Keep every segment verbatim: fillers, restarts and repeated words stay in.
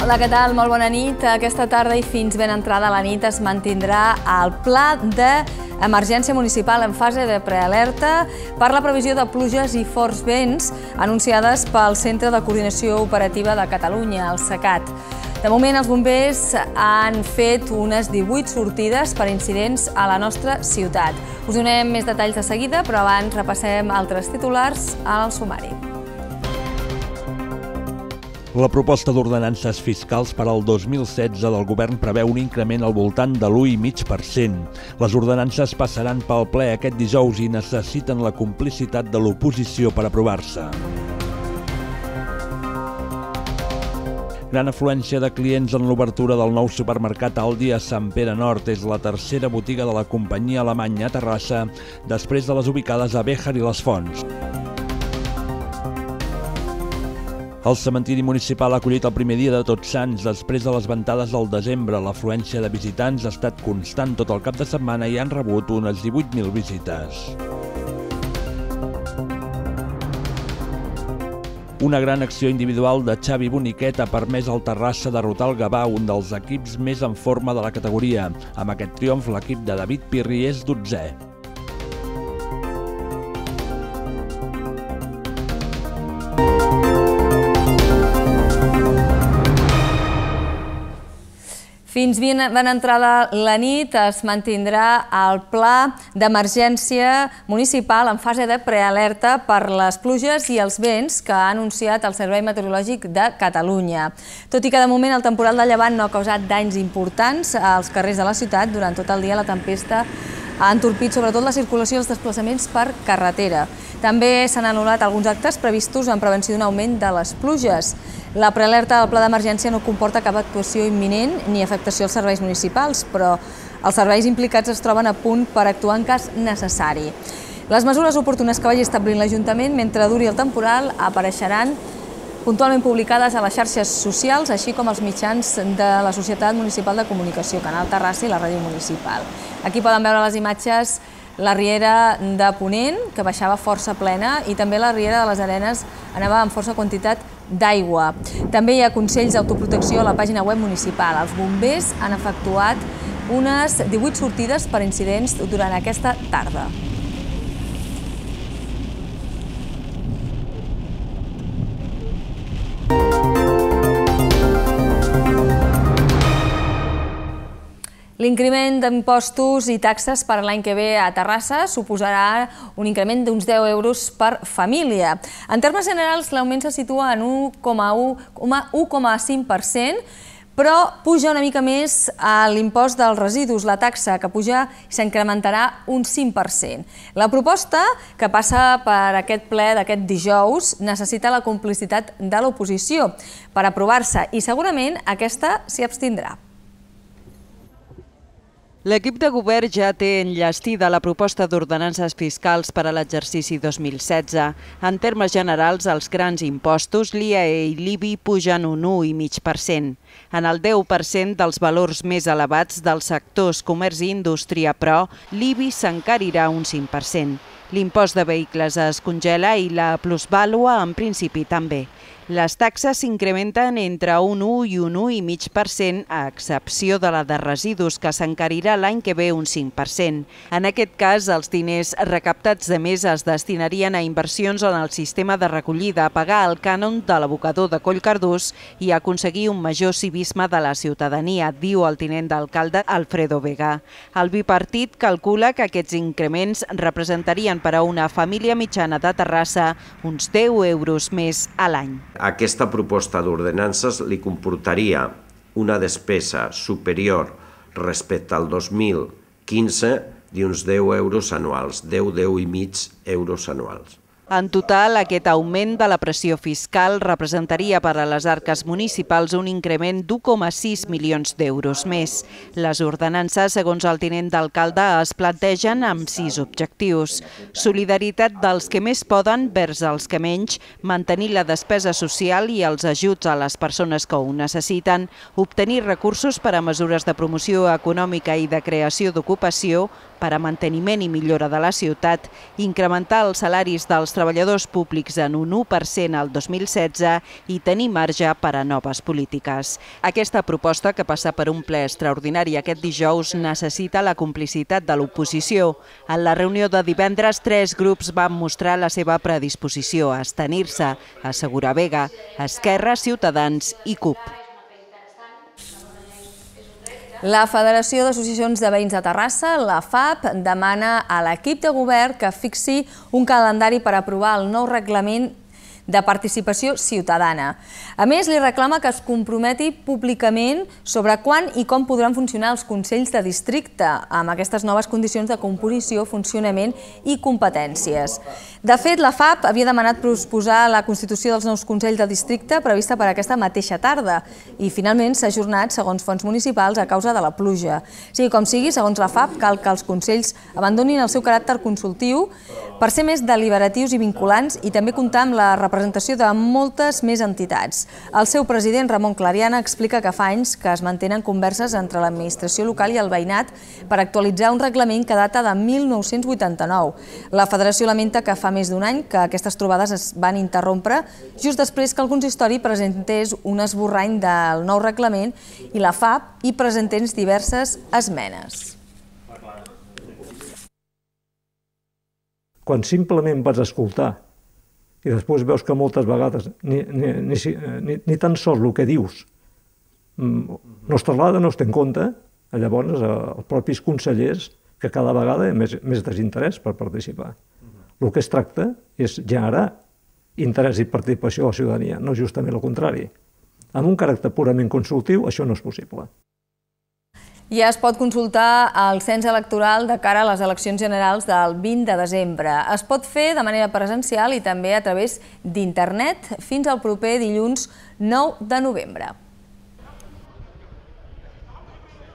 Hola, què tal? Molt bona nit. Aquesta tarda i fins ben entrada a la nit es mantindrà el pla d'emergència municipal en fase de prealerta per la previsió de pluges i forts vents anunciades pel Centre de Coordinació Operativa de Catalunya, el CECAT. De moment, els bombers han fet unes divuit sortides per incidents a la nostra ciutat. Us donem més detalls de seguida, però abans repassem altres titulars al sumari. La proposta d'ordenances fiscals per al dos mil setze del govern preveu un increment al voltant de l'u coma cinc per cent. Les ordenances passaran pel ple aquest dijous i necessiten la complicitat de l'oposició per aprovar-se. Gran afluència de clients en l'obertura del nou supermercat Aldi a Sant Pere Nord. És la tercera botiga de la companyia alemanya a Terrassa, després de les ubicades a Béjar i les Fonts. El cementiri municipal ha acollit el primer dia de Tots Sants després de les ventades del desembre. L'afluència de visitants ha estat constant tot el cap de setmana i han rebut unes divuit mil visites. Una gran acció individual de Xavi Boniquet ha permès al Terrassa derrotar el Gavà, un dels equips més en forma de la categoria. Amb aquest triomf, l'equip de David Pirri és dotzè. Fins ben entrada la nit es mantindrà el pla d'emergència municipal en fase de prealerta per les pluges i els vents que ha anunciat el Servei Meteorològic de Catalunya. Tot i que de moment el temporal de llevant no ha causat danys importants als carrers de la ciutat, durant tot el dia la tempesta ha entorpit sobretot la circulació i els desplaçaments per carretera. També s'han anul·lat alguns actes previstos en prevenció d'un augment de les pluges. La prealerta del pla d'emergència no comporta cap actuació imminent ni afectació als serveis municipals, però els serveis implicats es troben a punt per actuar en cas necessari. Les mesures oportunes que vagi establint l'Ajuntament mentre duri el temporal apareixeran puntualment publicades a les xarxes socials, així com als mitjans de la Societat Municipal de Comunicació, Canal Terrassa i la Ràdio Municipal. Aquí poden veure les imatges la riera de Ponent, que baixava força plena, i també la riera de les Arenes anava amb força quantitat d'aigua. També hi ha consells d'autoprotecció a la pàgina web municipal. Els bombers han efectuat unes divuit sortides per incidents durant aquesta tarda. L'increment d'impostos i taxes per l'any que ve a Terrassa suposarà un increment d'uns deu euros per família. En termes generals, l'augment se situa en un u coma cinc per cent, però puja una mica més l'impost dels residus, la taxa, que puja i s'incrementarà un cinc per cent. La proposta, que passa per aquest ple d'aquest dijous, necessita la complicitat de l'oposició per aprovar-se i segurament aquesta s'hi abstindrà. L'equip de govern ja té enllestida la proposta d'ordenances fiscals per a l'exercici dos mil setze. En termes generals, els grans impostos, l'I A E i l'I B I, pugen un u coma cinc per cent. En el deu per cent dels valors més elevats dels sectors comerç i indústria, però, l'I B I s'encarirà un cinc per cent. L'impost de vehicles es congela i la plusvàlua, en principi, també. Les taxes s'incrementen entre un u i un u coma cinc per cent, a excepció de la de residus, que s'encarirà l'any que ve un cinc per cent. En aquest cas, els diners recaptats de més es destinarien a inversions en el sistema de recollida, a pagar el cànon de l'abocador de Collcardús i a aconseguir un major civisme de la ciutadania, diu el tinent d'alcalde Alfredo Vega. El bipartit calcula que aquests increments representarien per a una família mitjana de Terrassa uns deu euros més a l'any. Aquesta proposta d'ordenances li comportaria una despesa superior respecte al dos mil quinze d'uns deu euros anuals, deu, deu i mig euros anuals. En total, aquest augment de la pressió fiscal representaria per a les arques municipals un increment d'u coma sis milions d'euros més. Les ordenances, segons el tinent d'alcalde, es plantegen amb sis objectius. Solidaritat dels que més poden vers els que menys, mantenir la despesa social i els ajuts a les persones que ho necessiten, obtenir recursos per a mesures de promoció econòmica i de creació d'ocupació, per a manteniment i millora de la ciutat, incrementar els salaris dels treballadors públics en un u per cent al dos mil setze i tenir marge per a noves polítiques. Aquesta proposta, que passa per un ple extraordinari aquest dijous, necessita la complicitat de l'oposició. En la reunió de divendres, tres grups van mostrar la seva predisposició a abstenir-se: Assegura Vega, Esquerra, Ciutadans i C U P. La Federació d'Associacions de Veïns de Terrassa, la F A P, demana a l'equip de govern que fixi un calendari per aprovar el nou reglament de participació ciutadana. A més, li reclama que es comprometi públicament sobre quan i com podran funcionar els consells de districte amb aquestes noves condicions de composició, funcionament i competències. De fet, la F A P havia demanat posposar la constitució dels nous consells de districte prevista per aquesta mateixa tarda i finalment s'ha ajornat, segons fonts municipals, a causa de la pluja. Sigui com sigui, segons la F A P, cal que els consells abandonin el seu caràcter consultiu per ser més deliberatius i vinculants i també comptar amb la representació de moltes més entitats. El seu president, Ramon Clariana, explica que fa anys que es mantenen converses entre l'administració local i el veïnat per actualitzar un reglament que data de mil nou-cents vuitanta-nou. La federació lamenta que fa més d'un any que aquestes trobades es van interrompre just després que el consistori presentés un esborrany del nou reglament i la F A P hi presentés diverses esmenes. Quan simplement vas escoltar i després veus que moltes vegades ni, ni, ni, ni, ni tan sols el que dius no es traslada, no es té en compte, llavors els propis consellers que cada vegada hi ha més, més desinterès per participar. El que es tracta és generar interès i participació de la ciutadania, no justament el contrari. Amb un caràcter purament consultiu això no és possible. Ja es pot consultar el cens electoral de cara a les eleccions generals del vint de desembre. Es pot fer de manera presencial i també a través d'internet fins al proper dilluns nou de novembre.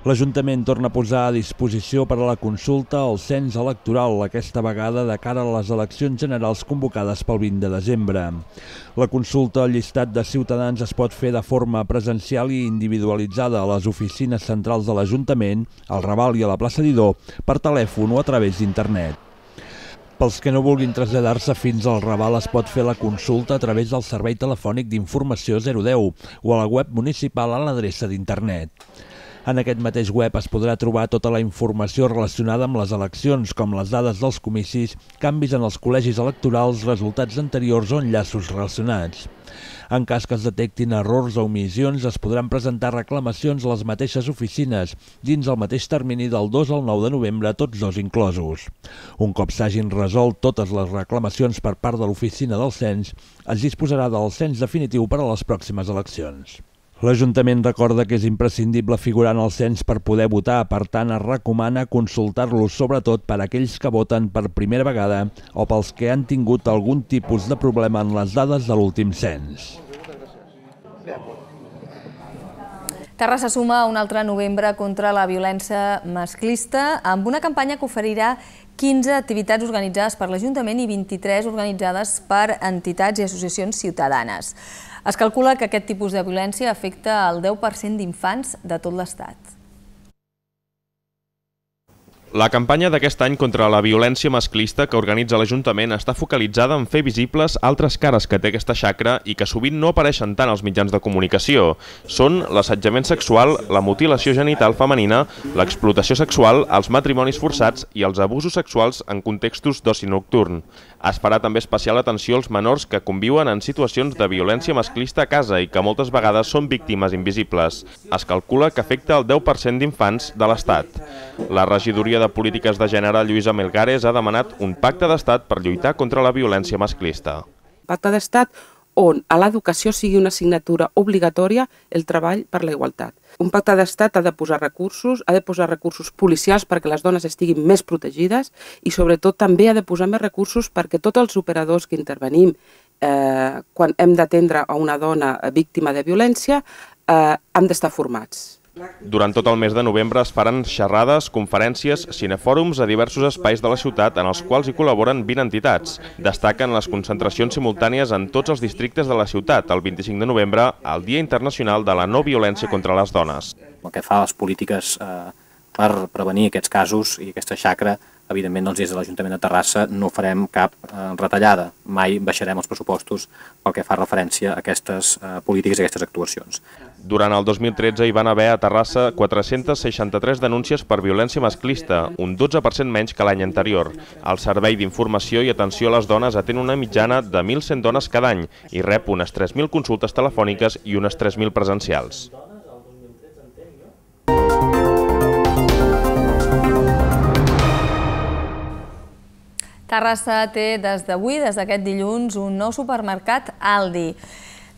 L'Ajuntament torna a posar a disposició per a la consulta el cens electoral, aquesta vegada de cara a les eleccions generals convocades pel vint de desembre. La consulta al llistat de ciutadans es pot fer de forma presencial i individualitzada a les oficines centrals de l'Ajuntament, al Raval i a la plaça Didó, per telèfon o a través d'internet. Pels que no vulguin traslladar-se fins al Raval es pot fer la consulta a través del servei telefònic d'informació zero deu o a la web municipal a l'adreça d'internet. En aquest mateix web es podrà trobar tota la informació relacionada amb les eleccions, com les dades dels comicis, canvis en els col·legis electorals, resultats anteriors o enllaços relacionats. En cas que es detectin errors o omissions, es podran presentar reclamacions a les mateixes oficines, dins el mateix termini del dos al nou de novembre, tots dos inclosos. Un cop s'hagin resolt totes les reclamacions per part de l'oficina del cens, es disposarà del cens definitiu per a les pròximes eleccions. L'Ajuntament recorda que és imprescindible figurar en el cens per poder votar, per tant es recomana consultar-los sobretot per a aquells que voten per primera vegada o pels que han tingut algun tipus de problema en les dades de l'últim cens. Terrassa suma un altre novembre contra la violència masclista amb una campanya que oferirà quinze activitats organitzades per l'Ajuntament i vint-i-tres organitzades per entitats i associacions ciutadanes. Es calcula que aquest tipus de violència afecta el deu per cent d'infants de tot l'Estat. La campanya d'aquest any contra la violència masclista que organitza l'Ajuntament està focalitzada en fer visibles altres cares que té aquesta xacra i que sovint no apareixen tant als mitjans de comunicació. Són l'assetjament sexual, la mutilació genital femenina, l'explotació sexual, els matrimonis forçats i els abusos sexuals en contextos d'oci nocturn. Es farà també especial atenció als menors que conviuen en situacions de violència masclista a casa i que moltes vegades són víctimes invisibles. Es calcula que afecta el deu per cent d'infants de l'Estat. La regidoria de Polítiques de Gènere, Lluïsa Melgares, ha demanat un pacte d'Estat per lluitar contra la violència masclista. Pacte d'Estat on a l'educació sigui una assignatura obligatòria el treball per la igualtat. Un pacte d'Estat ha de posar recursos, ha de posar recursos policials perquè les dones estiguin més protegides i sobretot també ha de posar més recursos perquè tots els operadors que intervenim eh, quan hem d'atendre a una dona víctima de violència eh, han d'estar formats. Durant tot el mes de novembre es faran xerrades, conferències, cinefòrums a diversos espais de la ciutat en els quals hi col·laboren vint entitats. Destaquen les concentracions simultànies en tots els districtes de la ciutat, el vint-i-cinc de novembre, el Dia Internacional de la No Violència contra les Dones. El que fa les polítiques eh, per prevenir aquests casos i aquesta xacra, evidentment, des de l'Ajuntament de Terrassa no farem cap retallada. Mai baixarem els pressupostos pel que fa referència a aquestes polítiques i aquestes actuacions. Durant el dos mil tretze hi van haver a Terrassa quatre-centes seixanta-tres denúncies per violència masclista, un dotze per cent menys que l'any anterior. El Servei d'Informació i Atenció a les Dones atén una mitjana de mil cent dones cada any i rep unes tres mil consultes telefòniques i unes tres mil presencials. Terrassa té des d'avui, des d'aquest dilluns, un nou supermercat Aldi.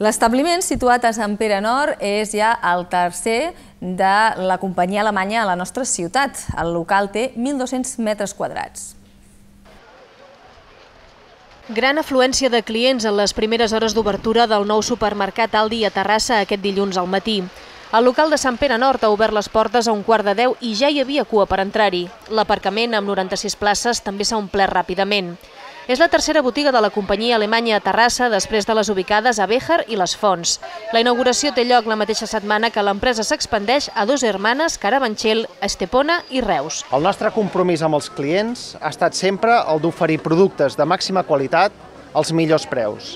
L'establiment, situat a Sant Pere Nord, és ja el tercer de la companyia alemanya a la nostra ciutat. El local té mil dos-cents metres quadrats. Gran afluència de clients en les primeres hores d'obertura del nou supermercat Aldi a Terrassa aquest dilluns al matí. El local de Sant Pere Nord ha obert les portes a un quart de deu i ja hi havia cua per entrar-hi. L'aparcament, amb noranta-sis places, també s'ha omplert ràpidament. És la tercera botiga de la companyia alemanya a Terrassa, després de les ubicades a Béjar i les Fonts. La inauguració té lloc la mateixa setmana que l'empresa s'expandeix a Dos Hermanes, Carabanchel, Estepona i Reus. El nostre compromís amb els clients ha estat sempre el d'oferir productes de màxima qualitat als millors preus.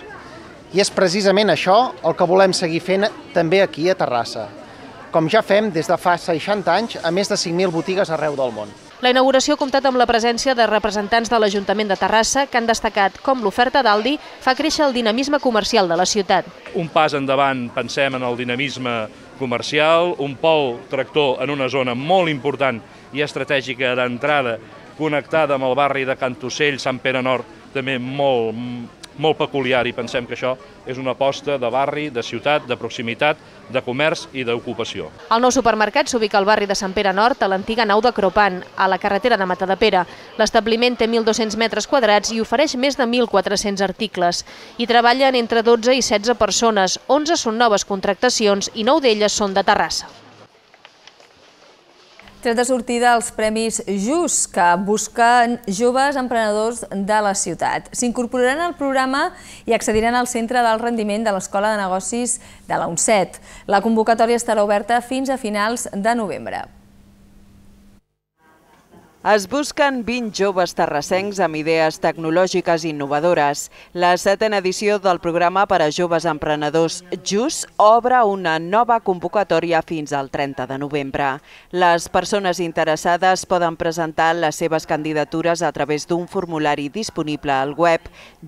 I és precisament això el que volem seguir fent també aquí a Terrassa, com ja fem des de fa seixanta anys a més de cinc mil botigues arreu del món. La inauguració ha comptat amb la presència de representants de l'Ajuntament de Terrassa que han destacat com l'oferta d'Aldi fa créixer el dinamisme comercial de la ciutat. Un pas endavant, pensem en el dinamisme comercial, un pol tractor en una zona molt important i estratègica d'entrada, connectada amb el barri de Cantocell, Sant Pere Nord, també molt, molt peculiar, i pensem que això és una aposta de barri, de ciutat, de proximitat, de comerç i d'ocupació. El nou supermercat s'ubica al barri de Sant Pere Nord, a l'antiga nau de Cropan, a la carretera de Matadepera. L'establiment té mil dos-cents metres quadrats i ofereix més de mil quatre-cents articles. Hi treballen entre dotze i setze persones, onze són noves contractacions i nou d'elles són de Terrassa. Tret de sortida els Premis Just, que busquen joves emprenedors de la ciutat. S'incorporaran al programa i accediran al Centre d'Alt Rendiment de l'Escola de Negocis de la UNCET. La convocatòria estarà oberta fins a finals de novembre. Es busquen vint joves terrassencs amb idees tecnològiques innovadores. La setena edició del programa per a joves emprenedors Just obre una nova convocatòria fins al trenta de novembre. Les persones interessades poden presentar les seves candidatures a través d'un formulari disponible al web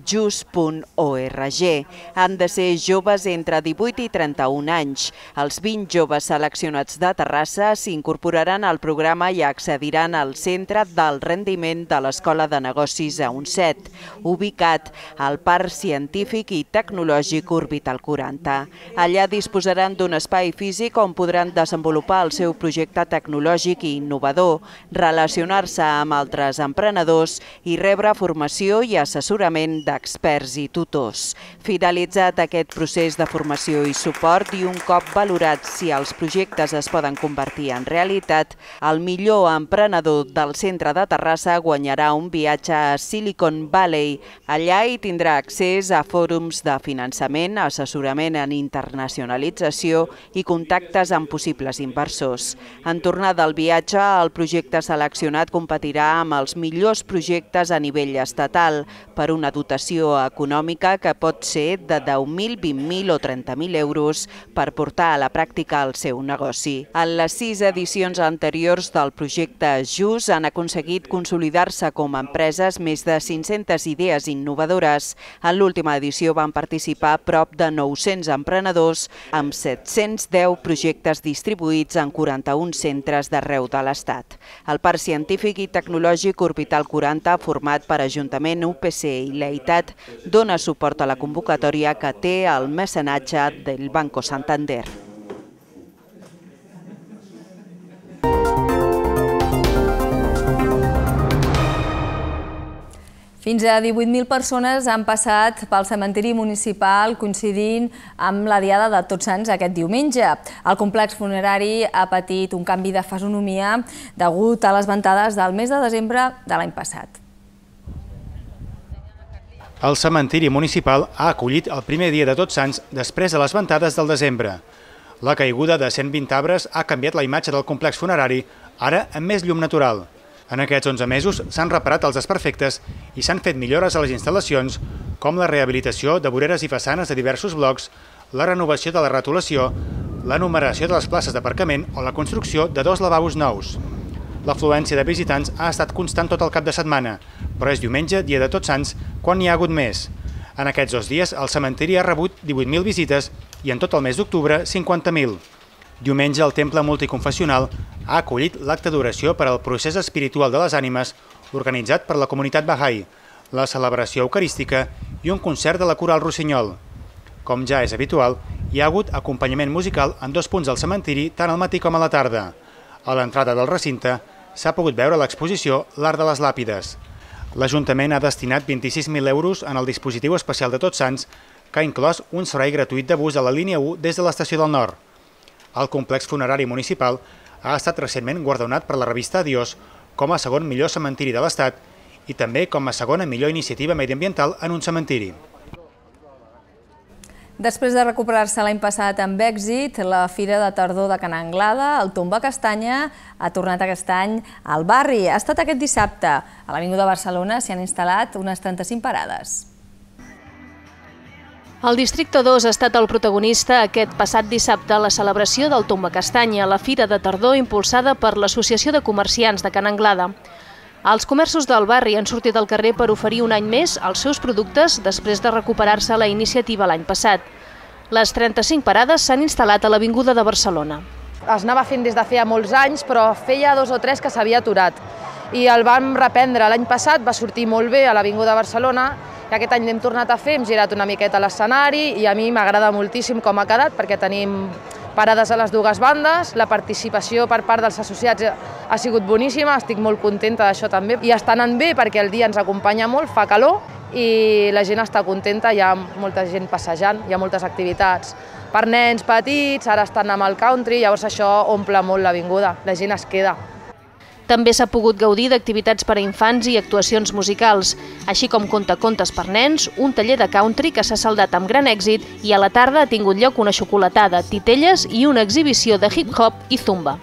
just punt org. Han de ser joves entre divuit i trenta-un anys. Els vint joves seleccionats de Terrassa s'incorporaran al programa i accediran al centre del rendiment de l'Escola de Negocis a UNCET, ubicat al Parc Científic i Tecnològic Orbital quaranta. Allà disposaran d'un espai físic on podran desenvolupar el seu projecte tecnològic i innovador, relacionar-se amb altres emprenedors i rebre formació i assessorament d'experts i tutors. Finalitzat aquest procés de formació i suport i un cop valorat si els projectes es poden convertir en realitat, el millor emprenedor del centre de Terrassa guanyarà un viatge a Silicon Valley. Allà hi tindrà accés a fòrums de finançament, assessorament en internacionalització i contactes amb possibles inversors. En tornar del viatge, el projecte seleccionat competirà amb els millors projectes a nivell estatal per una dotació econòmica que pot ser de deu mil, vint mil o trenta mil euros per portar a la pràctica el seu negoci. En les sis edicions anteriors del projecte Just han aconseguit consolidar-se com a empreses més de cinc-centes idees innovadores. En l'última edició van participar prop de nou-cents emprenedors amb set-cents deu projectes distribuïts en quaranta-un centres d'arreu de l'Estat. El Parc Científic i Tecnològic Orbital quaranta, format per Ajuntament, U P C i l'EITAT, dona suport a la convocatòria que té el mecenatge del Banco Santander. Fins a divuit mil persones han passat pel cementiri municipal coincidint amb la Diada de Tots Sants aquest diumenge. El complex funerari ha patit un canvi de fisonomia degut a les ventades del mes de desembre de l'any passat. El cementiri municipal ha acollit el primer dia de Tots Sants després de les ventades del desembre. La caiguda de cent vint arbres ha canviat la imatge del complex funerari, ara amb més llum natural. En aquests onze mesos s'han reparat els desperfectes i s'han fet millores a les instal·lacions, com la rehabilitació de voreres i façanes de diversos blocs, la renovació de la retolació, la numeració de les places d'aparcament o la construcció de dos lavabos nous. L'afluència de visitants ha estat constant tot el cap de setmana, però és diumenge, dia de Tots Sants, quan n'hi ha hagut més. En aquests dos dies, el cementiri ha rebut divuit mil visites i en tot el mes d'octubre, cinquanta mil. Diumenge, el temple multiconfessional ha acollit l'acte d'oració per al procés espiritual de les ànimes organitzat per la comunitat Bahá'í, la celebració eucarística i un concert de la Coral Rossinyol. Com ja és habitual, hi ha hagut acompanyament musical en dos punts del cementiri tant al matí com a la tarda. A l'entrada del recinte s'ha pogut veure l'exposició L'Art de les Làpides. L'Ajuntament ha destinat vint-i-sis mil euros en el dispositiu especial de Tots Sants, que ha inclòs un servei gratuït de bus a la línia u des de l'estació del Nord. El complex funerari municipal ha estat recentment guardonat per la revista Adiós com a segon millor cementiri de l'Estat i també com a segona millor iniciativa mediambiental en un cementiri. Després de recuperar-se l'any passat amb èxit, la Fira de Tardor de Ca n'Anglada, el Tomba Castanya, ha tornat aquest any al barri. Ha estat aquest dissabte. A l'Avinguda Barcelona s'hi han instal·lat unes trenta-cinc parades. El Districte dos ha estat el protagonista aquest passat dissabte a la celebració del Tomba Castanya, la Fira de Tardor impulsada per l'Associació de Comerciants de Ca n'Anglada. Els comerços del barri han sortit al carrer per oferir un any més els seus productes després de recuperar-se la iniciativa l'any passat. Les trenta-cinc parades s'han instal·lat a l'Avinguda de Barcelona. Es anava fent des de feia molts anys, però feia dos o tres que s'havia aturat. I el vam reprendre l'any passat, va sortir molt bé a l'Avinguda de Barcelona, i aquest any l'hem tornat a fer, hem girat una miqueta a l'escenari i a mi m'agrada moltíssim com ha quedat perquè tenim parades a les dues bandes, la participació per part dels associats ha sigut boníssima, estic molt contenta d'això també. I està anant bé perquè el dia ens acompanya molt, fa calor i la gent està contenta, hi ha molta gent passejant, hi ha moltes activitats per nens petits, ara estan amb el country, llavors això omple molt l'avinguda, la gent es queda. També s'ha pogut gaudir d'activitats per a infants i actuacions musicals, així com contacontes per nens, un taller de country que s'ha saldat amb gran èxit i a la tarda ha tingut lloc una xocolatada, titelles i una exhibició de hip-hop i zumba.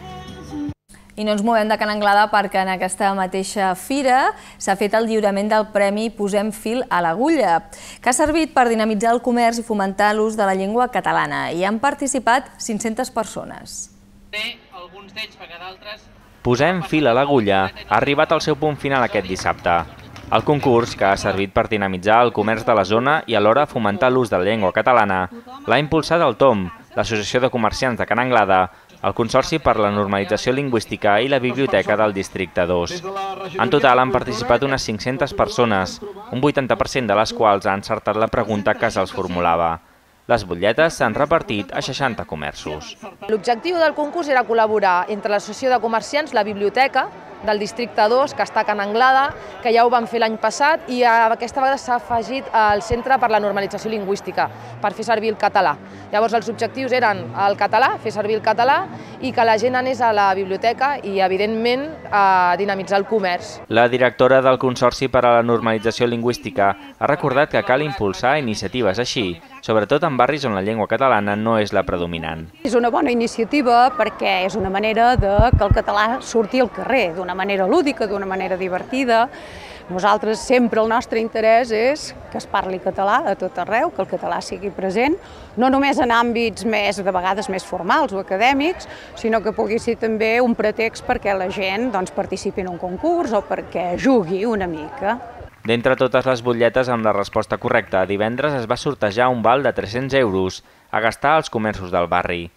I no ens movem de Ca n'Anglada perquè en aquesta mateixa fira s'ha fet el lliurament del Premi Posem Fil a l'Agulla, que ha servit per dinamitzar el comerç i fomentar l'ús de la llengua catalana. Hi han participat cinc-centes persones. Bé, alguns d'ells perquè d'altres... Posem fil a l'agulla ha arribat al seu punt final aquest dissabte. El concurs, que ha servit per dinamitzar el comerç de la zona i alhora fomentar l'ús de la llengua catalana, l'ha impulsat el Tom, l'Associació de Comerciants de Ca n'Anglada, el Consorci per la Normalització Lingüística i la Biblioteca del Districte dos. En total han participat unes cinc-centes persones, un vuitanta per cent de les quals ha encertat la pregunta que se'ls formulava. Les butlletes s'han repartit a seixanta comerços. L'objectiu del concurs era col·laborar entre l'Associació de Comerciants, la Biblioteca del Districte dos, que està a Ca n'Anglada, que ja ho vam fer l'any passat, i aquesta vegada s'ha afegit el Centre per la Normalització Lingüística, per fer servir el català. Llavors els objectius eren el català, fer servir el català, i que la gent anés a la biblioteca i, evidentment, a dinamitzar el comerç. La directora del Consorci per a la Normalització Lingüística ha recordat que cal impulsar iniciatives així, sobretot en barris on la llengua catalana no és la predominant. És una bona iniciativa perquè és una manera de que el català surti al carrer, d'una manera lúdica, d'una manera divertida. Nosaltres sempre el nostre interès és que es parli català a tot arreu, que el català sigui present, no només en àmbits més, de vegades més formals o acadèmics, sinó que pugui ser també un pretext perquè la gent doncs, participi en un concurs o perquè jugui una mica. D'entre totes les butlletes amb la resposta correcta, divendres es va sortejar un val de tres-cents euros a gastar als comerços del barri.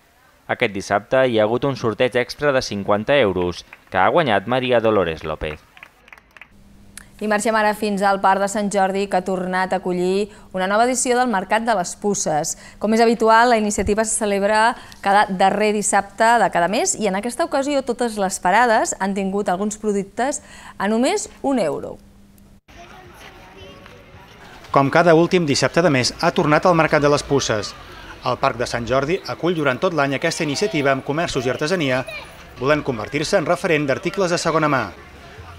Aquest dissabte hi ha hagut un sorteig extra de cinquanta euros, que ha guanyat Maria Dolores López. I marxem ara fins al Parc de Sant Jordi, que ha tornat a acollir una nova edició del Mercat de les Puces. Com és habitual, la iniciativa se celebra cada darrer dissabte de cada mes i en aquesta ocasió totes les parades han tingut alguns productes a només un euro. Com cada últim dissabte de mes, ha tornat al Mercat de les Puces. El Parc de Sant Jordi acull durant tot l'any aquesta iniciativa amb comerços i artesania, volent convertir-se en referent d'articles de segona mà.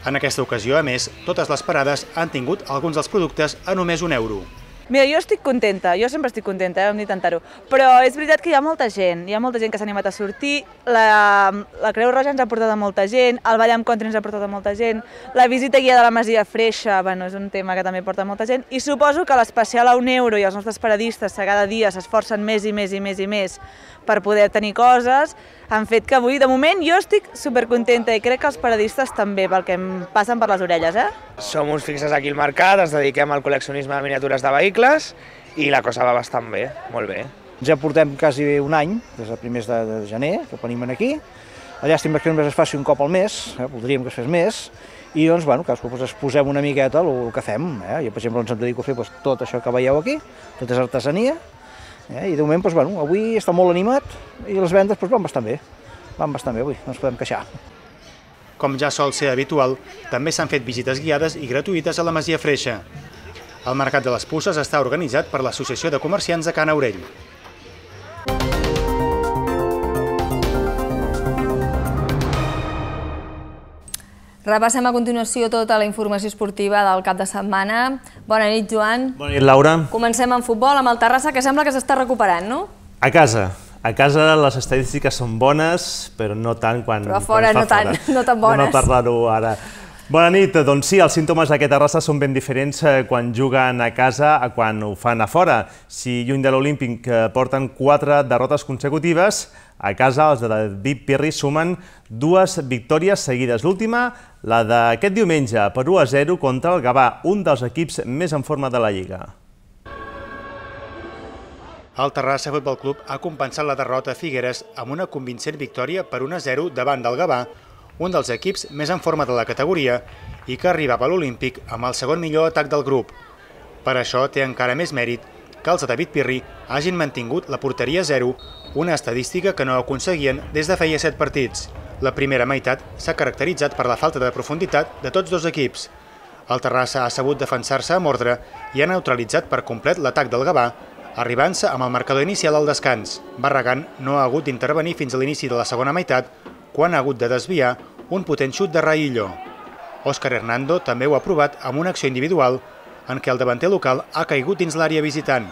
En aquesta ocasió, a més, totes les parades han tingut alguns dels productes a només un euro. Mira, jo estic contenta, jo sempre estic contenta, eh, hem d'intentar-ho, però és veritat que hi ha molta gent, hi ha molta gent que s'ha animat a sortir, la, la Creu Roja ens ha portat a molta gent, el Ball amb Country ens ha portat a molta gent, la visita guia de la Masia Freixa, bueno, és un tema que també porta molta gent, i suposo que l'especial a un euro i els nostres paradistes que cada dia s'esforcen més i més i més i més per poder tenir coses, han fet que avui, de moment, jo estic supercontenta i crec que els paradistes també, pel que em passen per les orelles, eh? Som uns fixes aquí al mercat, ens dediquem al col·leccionisme de miniatures de vehicles i la cosa va bastant bé, molt bé. Ja portem quasi un any, des del primers de, de gener, que venim aquí. La llàstima que només es faci un cop al mes, eh? Voldríem que es fes més, i doncs, bueno, cadascú pues, exposem una miqueta el que fem. Eh? Jo, per exemple, ens em dedico a fer pues, tot això que veieu aquí, tot és artesania, eh? I de moment, pues, bueno, avui està molt animat i les vendes pues, van bastant bé, van bastant bé avui, no ens podem queixar. Com ja sol ser habitual, també s'han fet visites guiades i gratuïtes a la Masia Freixa. El Mercat de les Puces està organitzat per l'Associació de Comerciants de Can Aurell. Repassem a continuació tota la informació esportiva del cap de setmana. Bona nit, Joan. Bona nit, Laura. Comencem amb futbol, amb el Terrassa, que sembla que s'està recuperant, no? A casa. A casa les estadístiques són bones, però no tant quan, però a fora, quan no, tant, no tan bones. No parlar-ho ara. Bona nit, doncs sí, els símptomes d'aquest Terrassa són ben diferents quan juguen a casa a quan ho fan a fora. Si lluny de l'Olímpic porten quatre derrotes consecutives, a casa els de David Pirri sumen dues victòries seguides. L'última, la d'aquest diumenge, per u a zero contra el Gavà, un dels equips més en forma de la Lliga. El Terrassa Futbol Club ha compensat la derrota a Figueres amb una convincent victòria per un a zero davant del Gavà, un dels equips més en forma de la categoria i que arribava a l'Olímpic amb el segon millor atac del grup. Per això té encara més mèrit que els de David Pirri hagin mantingut la porteria a zero, una estadística que no aconseguien des de feia set partits. La primera meitat s'ha caracteritzat per la falta de profunditat de tots dos equips. El Terrassa ha sabut defensar-se amb ordre i ha neutralitzat per complet l'atac del Gavà, arribant-se amb el marcador inicial al descans. Barragán no ha hagut d'intervenir fins a l'inici de la segona meitat, quan ha hagut de desviar un potent xut de Raillo. Òscar Hernando també ho ha provat amb una acció individual en què el davanter local ha caigut dins l'àrea visitant.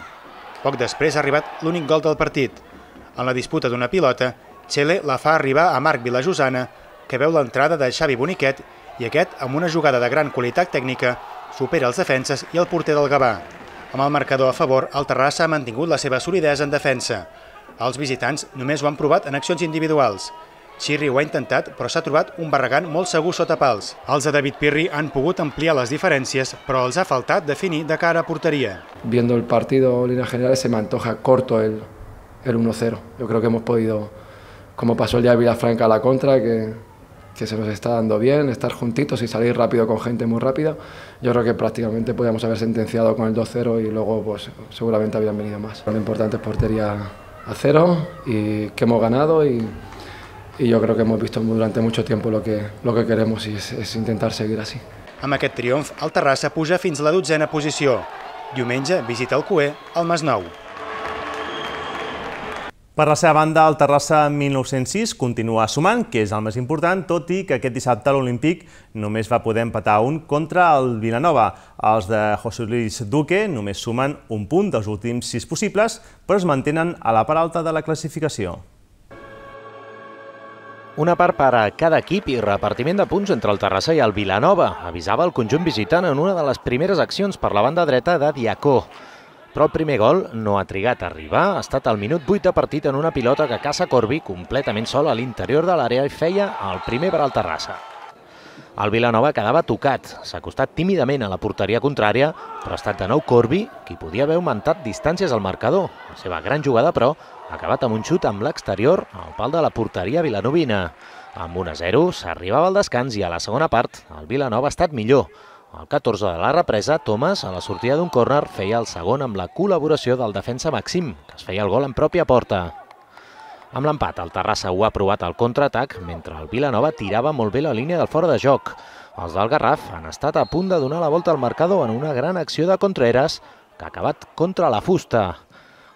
Poc després ha arribat l'únic gol del partit. En la disputa d'una pilota, Txele la fa arribar a Marc Vilajosana, que veu l'entrada de Xavi Boniquet i aquest, amb una jugada de gran qualitat tècnica, supera els defenses i el porter del Gavà. Amb el marcador a favor, el Terrassa ha mantingut la seva solidesa en defensa. Els visitants només ho han provat en accions individuals. Xirri ho ha intentat, però s'ha trobat un Barragán molt segur sota pals. Els de David Pirri han pogut ampliar les diferències, però els ha faltat definir de cara a porteria. Viendo el partido en líneas generales se me antoja corto el, el uno cero. Yo creo que hemos podido, como pasó el día de Vilafranca a la contra, que, que se nos está dando bien, estar juntitos y salir rápido con gente muy rápida. Yo creo que prácticamente podíamos haber sentenciado con el dos cero y luego pues seguramente habrían venido más. Lo importante es portería a cero y que hemos ganado y i jo crec que hem vist durant molt temps el que, lo que queremos i és, és intentar seguir així. Amb aquest triomf, el Terrassa puja fins a la dotzena posició. Diumenge visita el Cué al Masnou. Per la seva banda, el Terrassa mil nou-cents sis continua sumant, que és el més important, tot i que aquest dissabte a l'Olímpic només va poder empatar un contra el Vilanova. Els de José Luis Duque només sumen un punt dels últims sis possibles, però es mantenen a la part alta de la classificació. Una part per a cada equip i repartiment de punts entre el Terrassa i el Vilanova, avisava el conjunt visitant en una de les primeres accions per la banda dreta de Diacó. Però el primer gol no ha trigat a arribar, ha estat al minut vuit de partit en una pilota que caça Corbi completament sol a l'interior de l'àrea i feia el primer per al Terrassa. El Vilanova quedava tocat, s'ha acostat tímidament a la porteria contrària, però ha estat de nou Corbi qui podia haver augmentat distàncies al marcador. La seva gran jugada, però, ha acabat amb un xut amb l'exterior al pal de la porteria vilanovina. Amb un a zero s'arribava al descans i a la segona part el Vilanova ha estat millor. Al catorze de la represa, Thomas, a la sortida d'un córner, feia el segon amb la col·laboració del defensa Maxim, que es feia el gol en pròpia porta. Amb l'empat, el Terrassa ho ha provat al contraatac, mentre el Vilanova tirava molt bé la línia del fora de joc. Els del Garraf han estat a punt de donar la volta al marcador en una gran acció de Contreras, que ha acabat contra la fusta.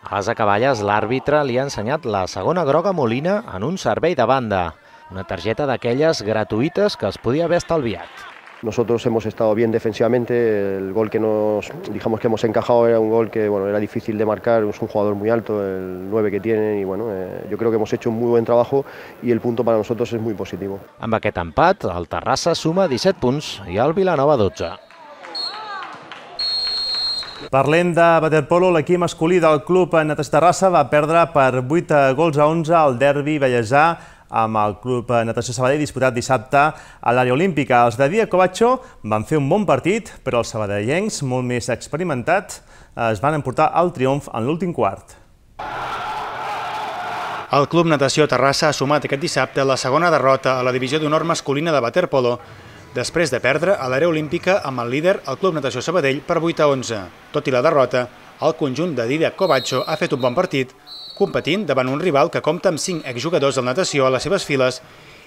A les acaballes, l'àrbitre li ha ensenyat la segona groga a Molina en un servei de banda, una targeta d'aquelles gratuïtes que es podia haver estalviat. Nosotros hemos estado bien defensivamente, el gol que nos, digamos que hemos encajado era un gol que bueno, era difícil de marcar, es un jugador muy alto, el nueve que tiene, y bueno, eh, yo creo que hemos hecho un muy buen trabajo y el punto para nosotros es muy positivo. Amb aquest empat, el Terrassa suma disset punts i el Vilanova dotze. Parlem de waterpolo, l'equip masculí del club Natació Terrassa va perdre per vuit gols a onze al derbi vallesà amb el club Natació Sabadell disputat dissabte a l'àrea olímpica. Els de Díaz Covacho van fer un bon partit, però els sabadellencs, molt més experimentats, es van emportar el triomf en l'últim quart. El Club Natació Terrassa ha sumat aquest dissabte la segona derrota a la divisió d'honor masculina de waterpolo, després de perdre a l'àrea olímpica amb el líder, el Club Natació Sabadell, per vuit a onze. Tot i la derrota, el conjunt de Díaz Covacho ha fet un bon partit, competint davant un rival que compta amb cinc exjugadors del natació a les seves files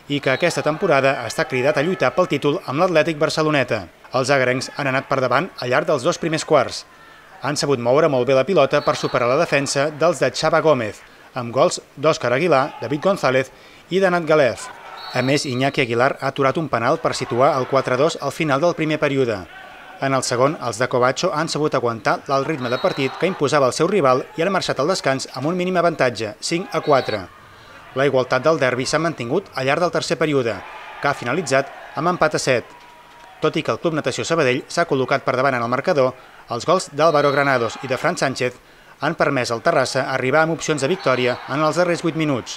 i que aquesta temporada està cridat a lluitar pel títol amb l'Atlètic Barceloneta. Els agarencs han anat per davant al llarg dels dos primers quarts. Han sabut moure molt bé la pilota per superar la defensa dels de Xava Gómez, amb gols d'Òscar Aguilar, David González i d'Anat Galef. A més, Iñaki Aguilar ha aturat un penal per situar el quatre a dos al final del primer període. En el segon, els de Covacho han sabut aguantar l'alt ritme de partit que imposava el seu rival i han marxat al descans amb un mínim avantatge, cinc a quatre. La igualtat del derbi s'ha mantingut al llarg del tercer període, que ha finalitzat amb empat a set. Tot i que el Club Natació Sabadell s'ha col·locat per davant en el marcador, els gols d'Álvaro Granados i de Fran Sánchez han permès al Terrassa arribar amb opcions de victòria en els darrers vuit minuts.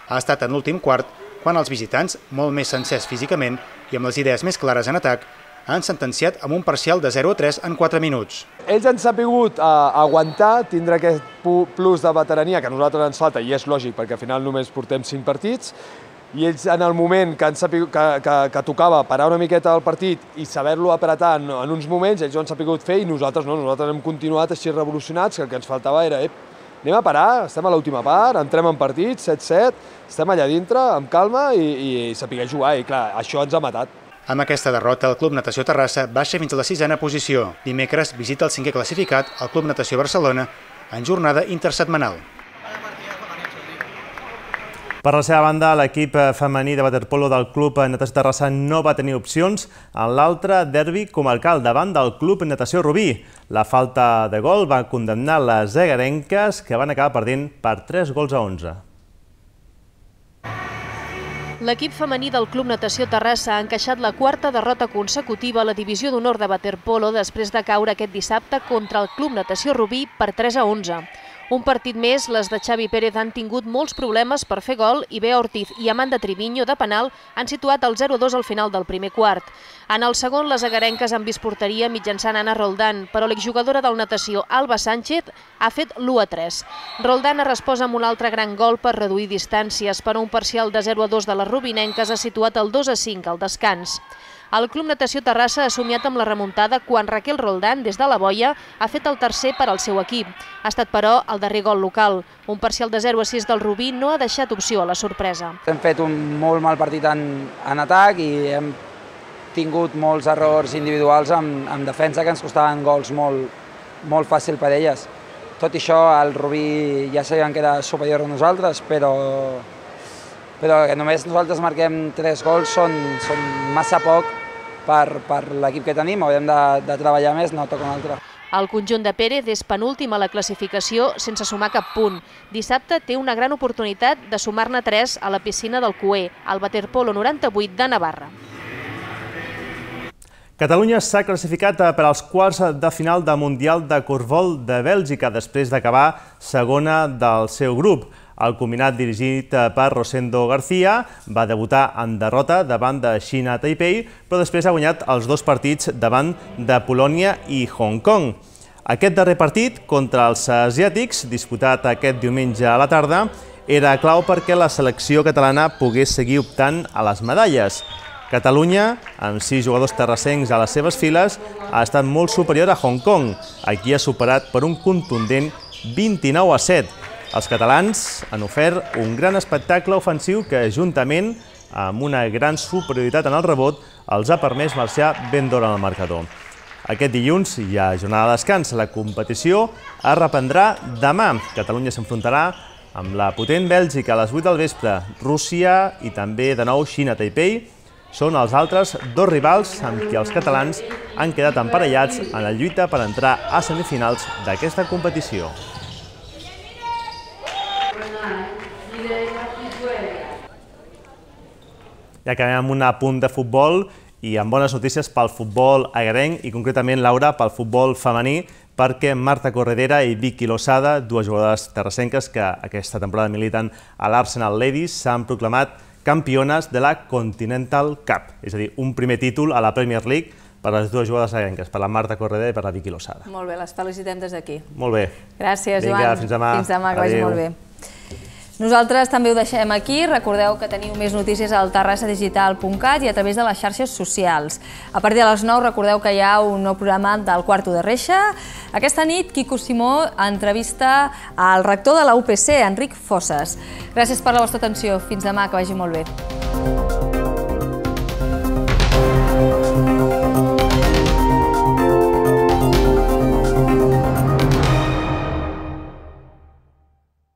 Ha estat en l'últim quart quan els visitants, molt més sencers físicament i amb les idees més clares en atac, han sentenciat amb un parcial de zero a tres en quatre minuts. Ells han sabut aguantar, tindre aquest plus de veterania que a nosaltres ens falta, i és lògic perquè al final només portem cinc partits, i ells en el moment que, han sapigut, que, que, que tocava parar una miqueta el partit i saber-lo apretar en, en uns moments, ells ho han sapigut fer i nosaltres no, nosaltres hem continuat així revolucionats, que el que ens faltava era ep, anem a parar, estem a l'última part, entrem en partit, set set, estem allà dintre, amb calma i, i saber jugar, i clar, això ens ha matat. Amb aquesta derrota, el Club Natació Terrassa baixa fins a la sisena posició. Dimecres visita el cinquè classificat, el Club Natació Barcelona, en jornada intersetmanal. Per la seva banda, l'equip femení de waterpolo del Club Natació Terrassa no va tenir opcions en l'altre derbi comarcal davant del Club Natació Rubí. La falta de gol va condemnar les egarenques, que van acabar perdent per tres gols a onze. L'equip femení del Club Natació Terrassa ha encaixat la quarta derrota consecutiva a la divisió d'honor de waterpolo després de caure aquest dissabte contra el Club Natació Rubí per tres a onze. Un partit més, les de Xavi Pérez han tingut molts problemes per fer gol i Bea Ortiz i Amanda Triviño de penal han situat el zero a dos al final del primer quart. En el segon, les agarenques han vist porteria mitjançant Anna Roldán, però l'exjugadora del natació Alba Sánchez ha fet l'u a tres. Roldán ha respost amb un altre gran gol per reduir distàncies, però un parcial de zero a dos de les rubinenques ha situat el dos a cinc al descans. El Club Natació Terrassa ha somiat amb la remuntada quan Raquel Roldán, des de la boia, ha fet el tercer per al seu equip. Ha estat, però, el darrer gol local. Un parcial de zero a sis del Rubí no ha deixat opció a la sorpresa. Hem fet un molt mal partit en, en atac i hem tingut molts errors individuals en, en defensa que ens costaven gols molt, molt fàcil per elles. Tot i això, el Rubí ja sabien que era superior a nosaltres, però però que només nosaltres marquem tres gols són, són massa poc per, per l'equip que tenim, haurem de, de treballar més, no toca un altre. El conjunt de Pérez és penúltim a la classificació sense sumar cap punt. Dissabte té una gran oportunitat de sumar-ne tres a la piscina del Cué, al waterpolo noranta-vuit de Navarra. Catalunya s'ha classificat per als quarts de final del Mundial de Corfbol de Bèlgica després d'acabar segona del seu grup. El combinat dirigit per Rosendo García va debutar en derrota davant de Xina Taipei, però després ha guanyat els dos partits davant de Polònia i Hong Kong. Aquest darrer partit contra els asiàtics, disputat aquest diumenge a la tarda, era clau perquè la selecció catalana pogués seguir optant a les medalles. Catalunya, amb sis jugadors terrassencs a les seves files, ha estat molt superior a Hong Kong. Aquí ha superat per un contundent vint-i-nou a set. Els catalans han ofert un gran espectacle ofensiu que, juntament amb una gran superioritat en el rebot, els ha permès marxar ben d'hora en el marcador. Aquest dilluns hi ha jornada de descans. La competició es reprendrà demà. Catalunya s'enfrontarà amb la potent Bèlgica a les vuit del vespre, Rússia i també de nou Xina Taipei són els altres dos rivals amb qui els catalans han quedat emparellats en la lluita per entrar a semifinals d'aquesta competició. I acabem amb un apunt de futbol i amb bones notícies pel futbol agarenc i concretament, Laura, pel futbol femení, perquè Marta Corredera i Vicky Losada, dues jugadores terrassenques que aquesta temporada militen a l'Arsenal Ladies, s'han proclamat campiones de la Continental Cup, és a dir, un primer títol a la Premier League per les dues jugadores agarenques, per la Marta Corredera i per la Vicky Losada. Molt bé, les felicitem des d'aquí. Molt bé. Gràcies, Joan. Vinga, fins demà. Fins demà, que vagi molt bé. Nosaltres també ho deixem aquí. Recordeu que teniu més notícies al terrassa digital punt cat i a través de les xarxes socials. A partir de les nou recordeu que hi ha un nou programa del Quarto de Reixa. Aquesta nit, Quico Simó entrevista al rector de la U P C, Enric Fosses. Gràcies per la vostra atenció. Fins demà, que vagi molt bé.